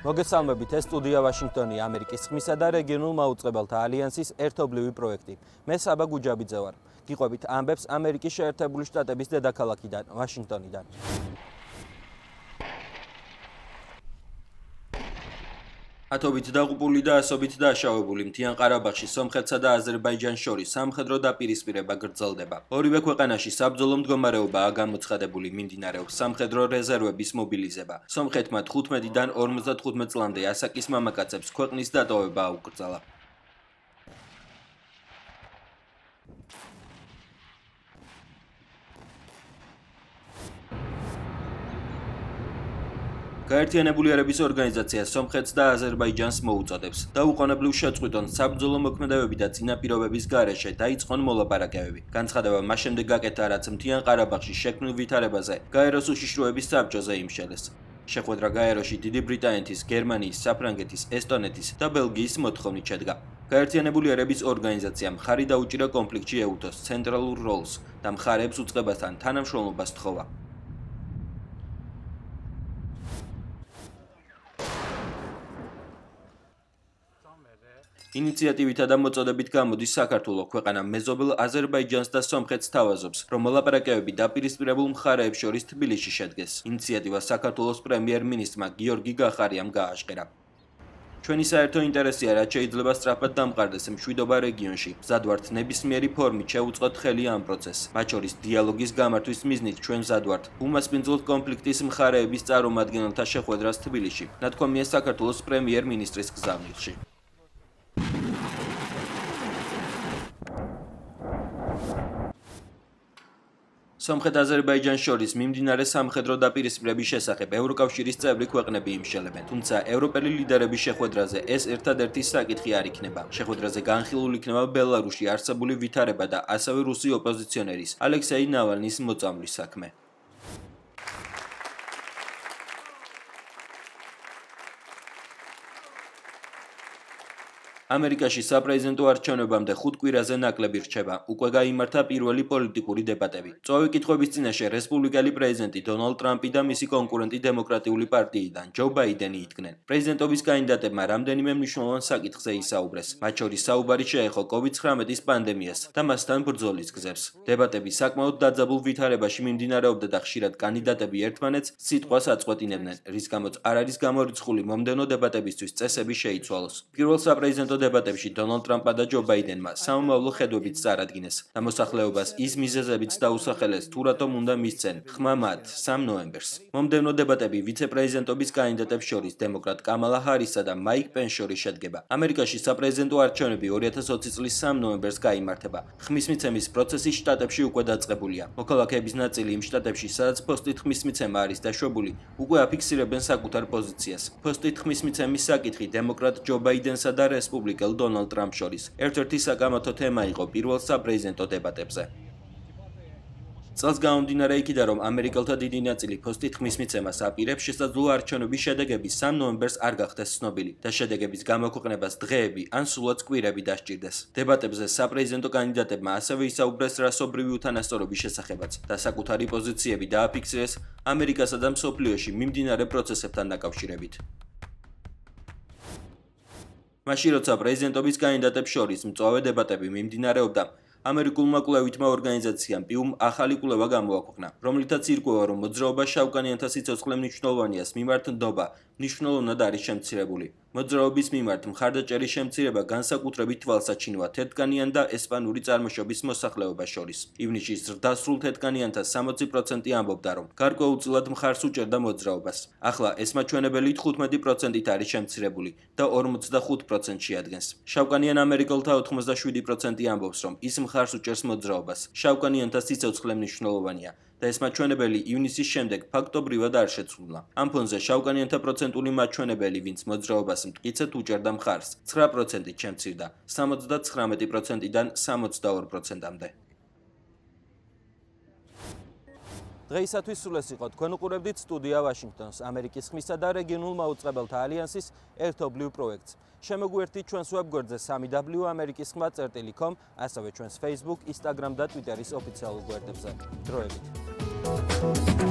მოგესალმებით, ეს სტუდია ვაშინგტონი, ამერიკის ხმისა და რეგიონულ მაუწყებელთა ალიანსის ერთობლივი პროექტი. მე საბა გუჯაბიძე ვარ. გიყვებით ამბებს ამერიკის შეერთებული შტატების დედაქალაქიდან, ვაშინგტონიდან. ათობით დაღუპული და ასობით დაშავებული მთიან ყარაბაღში სომხეთსა და აზერბაიჯანს შორის სამხედრო დაპირისპირება გრძელდება. ორივე ქვეყანაში საბრძოლო მდგომარეობაა გამოცხადებული, მიმდინარეობს სამხედრო რეზერვების მობილიზება. სომხეთმა 15-დან 55 წლამდე ასაკის მამაკაცებს ქვეყნის დატოვება აუკრძალა. გაერთიანებული ერების ორგანიზაცია სომხეთს და აზერბაიჯანს მოუწოდებს დაუყოვნებლივ შეწყვიტონ საბრძოლო მოქმედებები და წინაპირობების გარეშე დაიწყონ მოლაპარაკებები. განცხადება მას შემდეგ გაკეთა, რაც მთიან ყარაბაღში შექმნილ ვითარებაზე გაეროს უშიშროების საბჭოზე იმშელეს. შეხვედრა გაეროში დიდი ბრიტანეთის, გერმანიის, საფრანგეთის, ესტონეთის და ბელგიის მოთხოვნით შედგა. გაერთიანებული ერების ორგანიზაციამ მხარი დაუჭირა კონფლიქტში ეუთოს ცენტრალურ როლს და მხარეებს უწყებასთან თანამშრომლობას თხოვა. ინიციატივითა და მოწოდებით გამოდის საქართველო, ქვეყანა მეზობელ აზერბაიჯანს და სომხეთს თავაზობს, რომ მოლაპარაკებები დაპირისპირებულ მხარეებს შორის თბილისში შედგეს. ინიციატივა საქართველოს პრემიერ-მინისტრმა გიორგი გახარიამ გააშკარა. ჩვენი საერთო ინტერესია, რაც შეიძლება სწრაფად დამყარდეს მშვიდობა რეგიონში. მზად ვართ ნებისმიერი ფორმით შევუწყოთ ხელი ამ პროცესს. მათ შორის დიალოგის გამართვის მიზნით ჩვენ მზად ვართ უმასპინძლოთ კონფლიქტის მხარეების წარმომადგენელთა შეხვედრას თბილისში. ნათქვამია საქართველოს პრემიერ-მინისტრის გზავნილში. სომხეთ-აზერბაიჯანს შორის მიმდინარე სამხედრო დაპირისპირების შესახებ ევროკავშირის წევრი ქვეყნები იმშელებენ, თუმცა ევროპელი ლიდერების შეხვედრაზე ეს ერთადერთი საკითხი არ იქნება. შეხვედრაზე განხილულ იქნება ბელარუსში არსებული ვითარება და ასევე რუსი ოპოზიციონერის ალექსეი ნავალნის მოწამვლის საქმე. ამერიკაში საპრეზიდენტო არჩევნებამდე 5 კვირაზე ნაკლები რჩება. უკვე გაიმართა პირველი პოლიტიკური დებატები. წვავი კითხვების წინაშე რესპუბლიკელი პრეზიდენტი დონალდ ტრამპი და მისი კონკურენტი დემოკრატიული პარტიიდან ჯო ბაიდენი იდგნენ. პრეზიდენტობის კანდიდატებმა რამდენიმე მნიშვნელოვან საკითხზე ისაუბრეს. მათ შორის საუბარი შეეხო COVID-19 პანდემიას და მასთან ბრძოლის გზებს. დებატები საკმაოდ დაძაბულ ვითარებაში მიმდინარეობდა და ხშირად კანდიდატები ერთმანეთს სიტყვას აწყვეტინებდნენ, რის გამოც არ არის გამორიცხული მომდევნო დებატებისთვის წესები შეიცვალოს. პირველ საპრეზიდენტო დებატებში დონალდ ტრამპმა და ჯო ბაიდენმა სამომავლო ხედვებით წარადგინეს და მოსახლეობას ის მიზეზებიც დაუსახელეს, თუ რატომ უნდა მისცენ ხმა მათ 3 ნოემბერს. მომდევნო დებატები ვიცე-პრეზიდენტობის კანდიდატებს შორის დემოკრატ კამალა ჰარისსა და მაიკ პენსს შორის შედგება. ამერიკაში საპრეზიდენტო არჩევნები 2020 წლის 3 ნოემბერს გაიმართება. ხმის მიცემის პროცესი შტატებში უკვე დაწყებულია. მოქალაქეების ნაწილი იმ შტატებში, სადაც ფოსტით ხმის მიცემა არის დაშვებული, უკვე აფიქსირებენ საკუთარ პოზიციას. ფოსტით ხმის მიცემის საკითხი დემოკრატ ჯო ბაიდენსა და რესპუბლიკელ დონალდ ტრამპს შორის ერთ-ერთი საკამათო თემა იყო პირველ საპრეზიდენტო დებატებზე. წელს გამომდინარე იქიდან, რომ ამერიკელთა დიდი ნაწილი ფოსტით ხმის მიცემას აპირებს, შესაძლოა არჩევნების შედეგები 3 ნოემბერს არ გახდეს ცნობილი და შედეგების გამოქვეყნებას დღეები ან სულაც კვირები დასჭირდეს. დებატებზე საპრეზიდენტო კანდიდატებმა ასევე ისაუბრეს რასობრივი უთანასწორობის შესახებაც და საკუთარი პოზიციები დააფიქსირეს ამერიკასა და მსოფლიოში მიმდინარე პროცესებთან დაკავშირებით. მაშინ როცა პრეზიდენტობის კანდიდატებს შორის მწვავე დებატები მიმდინარეობდა, ამერიკულმა კვლევითმა ორგანიზაციამ პიუმ ახალი კვლევა გამოაქვეყნა, რომლითაც ირკვევა, რომ მოძრაობა შავკანიანთა სიცოცხლე მნიშვნელოვანიას მიმართ ნდობა მნიშვნელოვნად არის შემცირებული. მოძრაობის მიმართ მხარდაჭერის შემცირება განსაკუთრებით თვალსაჩინოა თეთრკანიან და ესპანური წარმოშობის მოსახლეობას შორის. ივნისში ზრდასრულ თეთრკანიანთა 60% ამბობდა, რომ გარკვეულწილად მხარს უჭერდა მოძრაობას. ახლა ეს მაჩვენებელი 15%-ით არის შემცირებული და 45% შეადგენს. შავკანიან ამერიკელთა 87% ამბობს, რომ ის მხარს უჭერს მოძრაობას. შავკანიანთა სიცოცხლე მნიშვნელოვანია და ეს მაჩვენებელი ივნისის შემდეგ ფაქტობრივად არ შეცვლილა. ამ ფონზე შავკანიანთა პროცენტული მაჩვენებელი, ვინც მოძრაობას მტკიცედ უჭერდა მხარს, 9%-ით შემცირდა, 79%-დან 62%-მდე. დღეისათვის სულ ეს იყო. თქვენ უყურებდით სტუდია ვაშინგტონს, ამერიკის ხმისა და რეგიონულ მაუწყებელთა ალიანსის ერთობლივ პროექტს. შემოგვერთით ჩვენს ვებგვერდზე www.amerikiskhma.com, ასევე ჩვენს Facebook, Instagram და Twitteris ოფიციალურ გვერდებზე. დროებით.